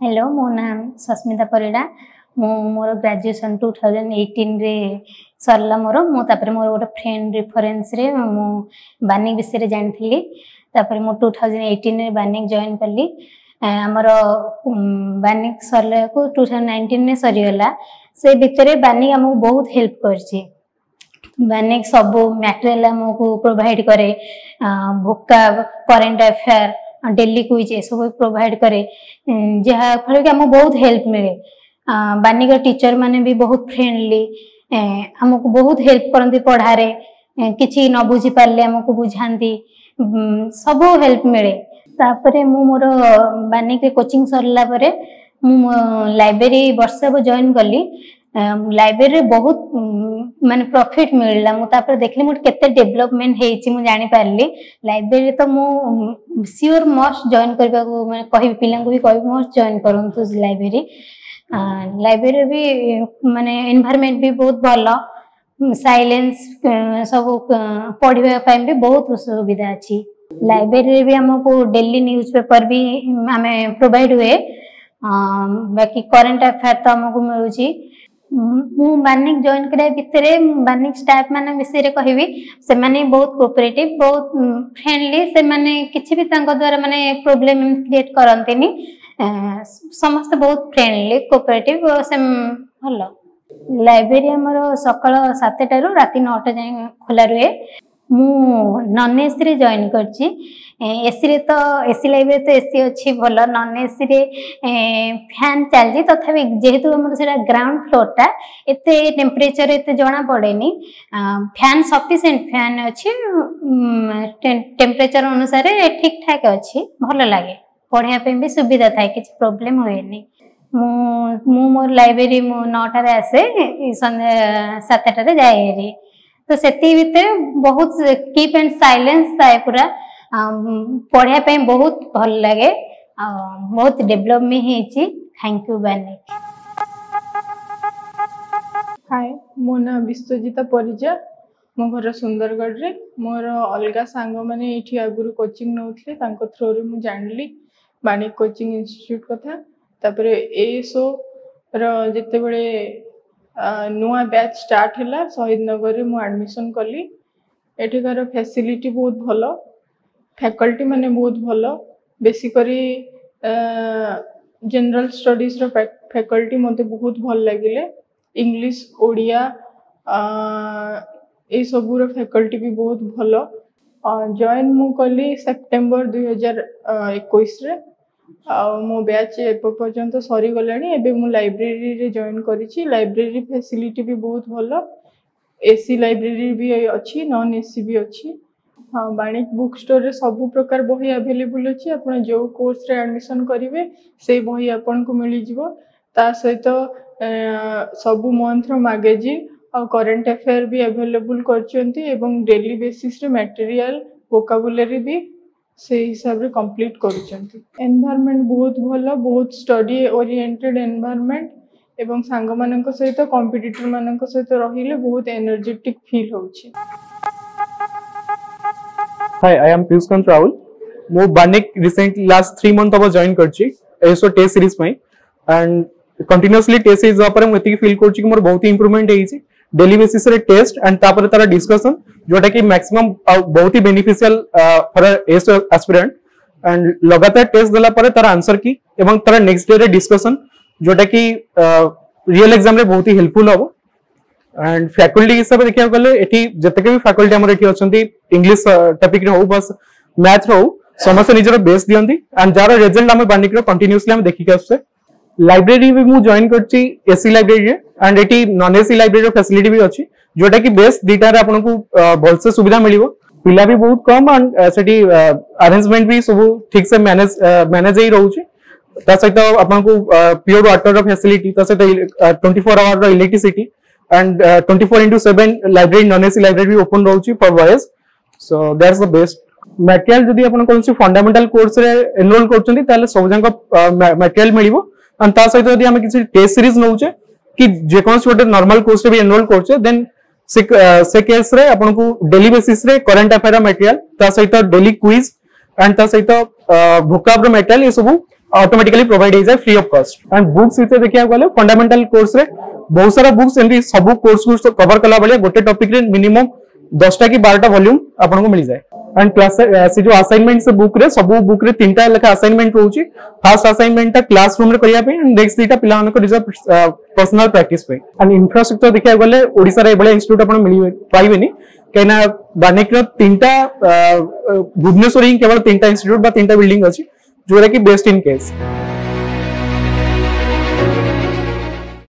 Hello, ମୋ ନାଁ ସସ୍ମିତା ପରିଡ଼ା। ମୁଁ ମୋର ଗ୍ରାଜୁଏସନ୍ 2018ରେ ସରିଲା ମୋର। ମୁଁ ତାପରେ ମୋର ଗୋଟେ ଫ୍ରେଣ୍ଡ ରିଫରେନ୍ସରେ ମୁଁ ବାନିକ ବିଷୟରେ ଜାଣିଥିଲି। ତାପରେ ମୁଁ 2018ରେ ବାନିକ ଜଏନ୍ କଲି। ଆମର ବାନିକ ସରିଲାକୁ 2019ରେ ସରିଗଲା। ସେ ଭିତରେ ବାନିକ ଆମକୁ ବହୁତ ହେଲ୍ପ କରିଛି। ବାନିକ ସବୁ ମ୍ୟାଟେରିଆଲ ଆମକୁ ପ୍ରୋଭାଇଡ କରେ, ଭୋକାବ, କରେଣ୍ଟ ଆଫେୟାର, ଡେଲି କୁଇଜ୍ ଏସବୁ ପ୍ରୋଭାଇଡ କରେ, ଯାହାଫଳରେ କି ଆମକୁ ବହୁତ ହେଲ୍ପ ମିଳେ। ବାନିକର ଟିଚର ମାନେ ବି ବହୁତ ଫ୍ରେଣ୍ଡଲି, ଆମକୁ ବହୁତ ହେଲ୍ପ କରନ୍ତି ପଢ଼ାରେ। କିଛି ନ ବୁଝି ପାରିଲେ ଆମକୁ ବୁଝାନ୍ତି, ସବୁ ହେଲ୍ପ ମିଳେ। ତାପରେ ମୁଁ ମୋର ବାନିକରେ କୋଚିଂ ସରିଲା ପରେ ମୁଁ ମୋ ଲାଇବ୍ରେରୀ ବର୍ଷେ ହେବ ଜଏନ୍ କଲି। ଲାଇବ୍ରେରୀରେ ବହୁତ ମାନେ ପ୍ରଫିଟ୍ ମିଳିଲା। ମୁଁ ତାପରେ ଦେଖିଲି ମୋର କେତେ ଡେଭଲପମେଣ୍ଟ ହେଇଛି, ମୁଁ ଜାଣିପାରିଲି। ଲାଇବ୍ରେରୀରେ ତ ମୁଁ ସିଓର ମଷ୍ଟ ଜଏନ୍ କରିବାକୁ ମାନେ କହିବି, ପିଲାଙ୍କୁ ବି କହିବି ମଷ୍ଟ ଜଏନ୍ କରନ୍ତୁ ଲାଇବ୍ରେରୀ। ଲାଇବ୍ରେରୀରେ ବି ମାନେ ଏନଭାରମେଣ୍ଟ ବି ବହୁତ ଭଲ, ସାଇଲେନ୍ସ ସବୁ, ପଢ଼ିବା ପାଇଁ ବି ବହୁତ ସୁବିଧା ଅଛି। ଲାଇବ୍ରେରୀରେ ବି ଆମକୁ ଡେଲି ନ୍ୟୁଜ୍ ପେପର ବି ଆମେ ପ୍ରୋଭାଇଡ ହୁଏ। ବାକି କରେଣ୍ଟ ଆଫେୟାର ତ ଆମକୁ ମିଳୁଛି। ମୁଁ ବାନିକ ଜଏନ୍ କରିବା ଭିତରେ ବାନିକ ଷ୍ଟାଫ୍ ମାନଙ୍କ ବିଷୟରେ କହିବି, ସେମାନେ ବହୁତ କୋଅପରେଟିଭ, ବହୁତ ଫ୍ରେଣ୍ଡଲି। ସେମାନେ କିଛି ବି ତାଙ୍କ ଦ୍ୱାରା ମାନେ ପ୍ରୋବ୍ଲେମ କ୍ରିଏଟ୍ କରନ୍ତିନି। ସମସ୍ତେ ବହୁତ ଫ୍ରେଣ୍ଡଲି, କୋଅପରେଟିଭ, ସେ ଭଲ। ଲାଇବ୍ରେରୀ ଆମର ସକାଳ 7ଟାରୁ ରାତି 9ଟା ଯାଏଁ ଖୋଲା ରୁହେ। ମୁଁ ନନ୍ ଏସିରେ ଜଏନ୍ କରିଛି। ଏସିରେ ତ, ଏସି ଲାଇବ୍ରେରୀ ତ ଏସି ଅଛି ଭଲ। ନନ୍ ଏସିରେ ଫ୍ୟାନ୍ ଚାଲିଛି, ତଥାପି ଯେହେତୁ ଆମର ସେଇଟା ଗ୍ରାଉଣ୍ଡ ଫ୍ଲୋରଟା, ଏତେ ଟେମ୍ପରେଚର ଏତେ ଜଣା ପଡ଼େନି। ଫ୍ୟାନ୍ ସଫିସିଏଣ୍ଟ ଫ୍ୟାନ୍ ଅଛି, ଟେମ୍ପରେଚର ଅନୁସାରେ ଠିକ୍ ଠାକ୍ ଅଛି। ଭଲ ଲାଗେ, ପଢ଼ିବା ପାଇଁ ବି ସୁବିଧା ଥାଏ, କିଛି ପ୍ରୋବ୍ଲେମ ହୁଏନି। ମୁଁ ମୋର ଲାଇବ୍ରେରୀ ମୁଁ 9ଟାରେ ଆସେ, ସନ୍ଧ୍ୟା 7ଟାରେ ଯାଏ ହେରି। ତ ସେତିକି ଭିତରେ ବହୁତ କିପ୍ ଆଣ୍ଡ ସାଇଲେନ୍ସ ଥାଏ ପୁରା, ପଢ଼ିବା ପାଇଁ ବହୁତ ଭଲ ଲାଗେ ଆଉ ବହୁତ ଡେଭଲପ ବି ହେଇଛି। Thank you ବାନିକ। ହାଏ, ମୋ ନାଁ ବିଶ୍ୱଜିତା ପରିଜା, ମୋ ଘର ସୁନ୍ଦରଗଡ଼ରେ। ମୋର ଅଲଗା ସାଙ୍ଗମାନେ ଏଇଠି ଆଗରୁ କୋଚିଂ ନେଉଥିଲେ, ତାଙ୍କ ଥ୍ରୋରେ ମୁଁ ଜାଣିଲି ବାଣିକ କୋଚିଂ ଇନଷ୍ଟିଚ୍ୟୁଟ୍ କଥା। ତାପରେ ଏଏସ୍ଓର ଯେତେବେଳେ ନୂଆ ବ୍ୟାଚ୍ ଷ୍ଟାର୍ଟ ହେଲା, ଶହୀଦ ନଗରରେ ମୁଁ ଆଡ଼ମିସନ୍ କଲି। ଏଠିକାର ଫ୍ୟାସିଲିଟି ବହୁତ ଭଲ, ଫ୍ୟାକଲ୍ଟି ମାନେ ବହୁତ ଭଲ। ବେଶୀ କରି ଜେନେରାଲ ଷ୍ଟଡିଜର ଫ୍ୟାକଲ୍ଟି ମୋତେ ବହୁତ ଭଲ ଲାଗିଲେ। ଇଂଲିଶ, ଓଡ଼ିଆ ଏସବୁର ଫ୍ୟାକଲ୍ଟି ବି ବହୁତ ଭଲ। ଜଏନ୍ ମୁଁ କଲି ସେପ୍ଟେମ୍ବର 2021ରେ ଆଉ ମୋ ବ୍ୟାଚ୍ ଏବେ ପର୍ଯ୍ୟନ୍ତ ସରିଗଲାଣି। ଏବେ ମୁଁ ଲାଇବ୍ରେରୀରେ ଜଏନ୍ କରିଛି। ଲାଇବ୍ରେରୀ ଫ୍ୟାସିଲିଟି ବି ବହୁତ ଭଲ। ଏସି ଲାଇବ୍ରେରୀ ବି ଅଛି, ନନ୍ ଏସି ବି ଅଛି। ହଁ, ବାଣିକ ବୁକ୍ ଷ୍ଟୋରରେ ସବୁ ପ୍ରକାର ବହି ଆଭେଲେବୁଲ୍ ଅଛି। ଆପଣ ଯେଉଁ କୋର୍ସରେ ଆଡ଼ମିସନ୍ କରିବେ, ସେଇ ବହି ଆପଣଙ୍କୁ ମିଳିଯିବ। ତା ସହିତ ସବୁ ମନ୍ଥର ମାଗାଜିନ୍ ଆଉ କରେଣ୍ଟ ଆଫେୟାର ବି ଆଭେଲେବୁଲ୍ କରିଛନ୍ତି ଏବଂ ଡେଲି ବେସିସ୍ରେ ମ୍ୟାଟେରିଆଲ, ଭୋକାବୁଲାରୀ ବି ସେଇ ହିସାବରେ କମ୍ପ୍ଲିଟ୍ କରୁଛନ୍ତି। ଏନଭାରମେଣ୍ଟ ବହୁତ ଭଲ, ବହୁତ ଷ୍ଟଡି ଓରିଏଣ୍ଟେଡ୍ ଏନଭାରମେଣ୍ଟ ଏବଂ ସାଙ୍ଗମାନଙ୍କ ସହିତ, କମ୍ପିଟିଟର ମାନଙ୍କ ସହିତ ରହିଲେ ବହୁତ ଏନର୍ଜେଟିକ୍ ଫିଲ୍ ହେଉଛି। Hi, I am Piyush Kant Rahul. ମୁଁ ବାନିକ ରିସେଣ୍ଟ ଲାଷ୍ଟ 3 ମନ୍ଥ ହବ ଜଏନ୍ କରିଛି ଏଏସଓ ଟେଷ୍ଟ ସିରିଜ ପାଇଁ। ଆଣ୍ଡ କଣ୍ଟିନ୍ୟୁଅସଲି ଟେଷ୍ଟ ସିରିଜ ଦେବା ପରେ ମୁଁ ଏତିକି ଫିଲ୍ କରୁଛି କି ମୋର ବହୁତ ଇମ୍ପ୍ରୁଭମେଣ୍ଟ ହେଇଛି। ଡେଲି ବେସିସରେ ଟେଷ୍ଟ ଆଣ୍ଡ ତାପରେ ତାର ଡିସ୍କସନ, ଯୋଉଟା କି ମ୍ୟାକ୍ସିମମ୍ ବହୁତ ହି beneficial for ASO aspirant. And ଲଗାତାର ଟେଷ୍ଟ ଦେଲା ପରେ ତାର ଆନ୍ସର କି ଏବଂ ତାର ନେକ୍ସଟ ଡେ ରେ ଡିସ୍କସନ, ଯୋଉଟା କି ରିଏଲ ଏକ୍ସାମ ରେ ବହୁତ ହି ହେଲ୍ପଫୁଲ ହବ। ଆଣ୍ଡ ଫ୍ୟାକଲ୍ଟି ହିସାବରେ ଦେଖିବାକୁ ଗଲେ, ଏଠି ଯେତେକ ବି ଫ୍ୟାକଲ୍ଟି ଆମର ଏଠି ଅଛନ୍ତି, ଇଂଲିଶ ଟପିକ ରେ ହଉ ବା ମ୍ୟାଥ ରେ ହଉ, ସମସ୍ତେ ନିଜର ବେଷ୍ଟ ଦିଅନ୍ତି ଆଣ୍ଡ ଯାହାର ରେଜଲ୍ଟ ଆମେ ବାନିକର କଣ୍ଟିନ୍ୟୁଅସଲି ଆମେ ଦେଖିକି ଆସୁଛେ। ଲାଇବ୍ରେରୀ ବି ମୁଁ ଜଏନ୍ କରିଛି ଏସି ଲାଇବ୍ରେରୀରେ ଆଣ୍ଡ ଏଠି ନନ୍ ଏସି ଲାଇବ୍ରେରୀର ଫ୍ୟାସିଲିଟି ବି ଅଛି, ଯୋଉଟା କି ବେଷ୍ଟ। ଦିଟାରେ ଆପଣଙ୍କୁ ଭଲସେ ସୁବିଧା ମିଳିବ। ପିଲା ବି ବହୁତ କମ ଆଣ୍ଡ ସେଠି ଆରେଞ୍ଜମେଣ୍ଟ ବି ସବୁ ଠିକ ସେ ମ୍ୟାନେଜ ହେଇ ରହୁଛି। ତା ସହିତ ଆପଣଙ୍କୁ ପିଓର ୱାଟର ଫ୍ୟାସିଲିଟି, ତା ସହିତ 24 hour electricity and 24/7 library, non AC library B open ରହୁଛି for boys, so that's the best material। ଯଦି ଆପଣ କୌଣସି ଫଣ୍ଡାମେଣ୍ଟାଲ କୋର୍ସ ରେ ଏନରୋଲ କରୁଛନ୍ତି, ତାହେଲେ ସବୁ ଯାକ ମ୍ୟାଟେରିଆଲ ମିଳିବ। ଆଣ୍ଡ ତା ସହିତ ଯଦି ଆମେ କିଛି ଟେଷ୍ଟ ସିରିଜ ନଉଛେ କି ଯେକୌଣସି ଗୋଟେ ନର୍ମାଲ କୋର୍ସ ରେ ବି ଏନରୋଲ କରୁଛେ, ଦେନ୍ ସେ କେସ୍ ରେ ଆପଣଙ୍କୁ ଡେଲି ବେସିସ ରେ କରେଣ୍ଟ ଆଫେୟାର ମ୍ୟାଟେରିଆଲ, ତା ସହିତ ଡେଲି କୁଇଜ ଆଣ୍ଡ ତା ସହିତ ଭୋକାବ ର ମ୍ୟାଟେରିଆଲ, ଏ ସବୁ ଅଟୋମେଟିକାଲି ପ୍ରୋଭାଇଡ ହେଇଯାଏ free of cost. And books ଭିତରେ ଦେଖିବାକୁ ଗଲେ ଫଣ୍ଡାମେଣ୍ଟାଲ କୋର୍ସରେ ବହୁତ ସାରା ବୁକ୍ସ, ଏମିତି ସବୁ କୋର୍ସକୁ କଭର କଲା ଭଳିଆ ଗୋଟେ ଟପିକରେ ମିନିମମ୍ 10ଟା କି 12ଟା ଭଲ୍ୟୁମ ଆପଣଙ୍କୁ ମିଳିଯାଏ। ଆଣ୍ଡ କ୍ଲାସ ସେ ଯୋଉ ଆସାଇନମେଣ୍ଟ, ସେ ବୁକ୍ ରେ ସବୁ ବୁକ୍ ରେ 3ଟା ଲେଖା ଆସାଇନମେଣ୍ଟ ରହୁଛି। ଫାର୍ଷ୍ଟ ଆସାଇନମେଣ୍ଟଟା କ୍ଲାସ ରୁମ ରେ କରିବା ପାଇଁ, ନେକ୍ସଟ 2ଟା ପିଲାମାନଙ୍କ ନିଜ ପର୍ସନାଲ ପ୍ରାକ୍ଟିସ ପାଇଁ। ଆଣ୍ଡ ଇନଫ୍ରାଷ୍ଟ୍ରକ୍ଚର ଦେଖିବାକୁ ଗଲେ ଓଡିଶାରେ ଏଭଳିଆ ଇନଷ୍ଟିଚ୍ୟୁଟ ଆପଣ ମିଳିବେ ପାଇବେନି, କାହିଁକିନା ବାନିକର 3ଟା, ଭୁବନେଶ୍ୱର ହିଁ କେବଳ 3ଟା ଇନଷ୍ଟିଚ୍ୟୁଟ ବା 3ଟା ବିଲ୍ଡିଂ ଅଛି, ଯୋଉଟା କି ବେଷ୍ଟ ଇନ୍ କେସ୍।